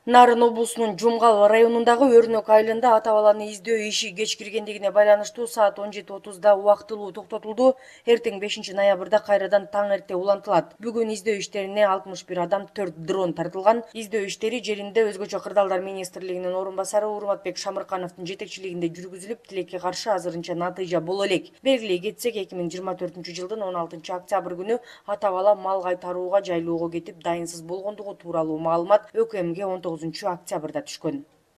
Нарын облусунун Жумгал районундагы Өрнөк айылында ата баланы издөө иши кеч киргендигине байланыштуу саат 17:30 убактылуу токтотулду. Эртең 5 ноябрда кайрадан таң эрте улантылат. Бүгүн издөө иштерине 61 адам, 4 дрон тартылган. Издөө иштери жеринде өзгөчө кырдаалдар министрлигинин орун басары Урматбек Шамыркановдун жетекчилигинде жүргүзүлүп, тилекке каршы азырынча натыйжа боло элек. Белгилей кетсек, 2024-жылдын 16 октябрь күнү ата бала мал кайтарууга жайлоого кетип дайынсыз болгондугу тууралуу маалымат ӨКМге 19 октябрда түшкөн.